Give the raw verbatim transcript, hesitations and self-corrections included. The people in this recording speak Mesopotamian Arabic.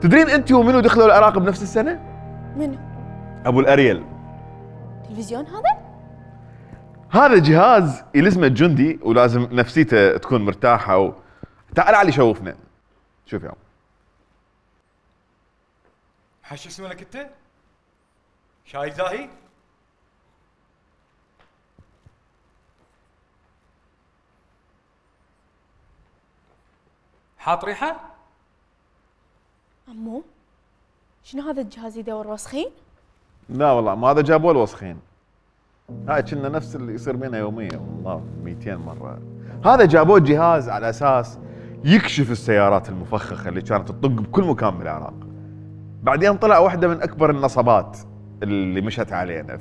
تدرين انت ومنو دخلوا العراق بنفس السنه؟ منو؟ ابو الاريل. تلفزيون هذا؟ هذا جهاز يلزمه الجندي ولازم نفسيته تكون مرتاحه و... تعال علي شوفنا. شوف يا عم. حش اسمك انت؟ شاي زاهي؟ حاط ريحه؟ عمو شنو هذا الجهاز يدور وسخين؟ لا والله ما هذا جابوه الوسخين. هاي كنا نفس اللي يصير بينا يوميا والله مئتين مره. هذا جابوه جهاز على اساس يكشف السيارات المفخخه اللي كانت تطق بكل مكان بالعراق. بعدين طلع واحده من اكبر النصبات اللي مشت علينا.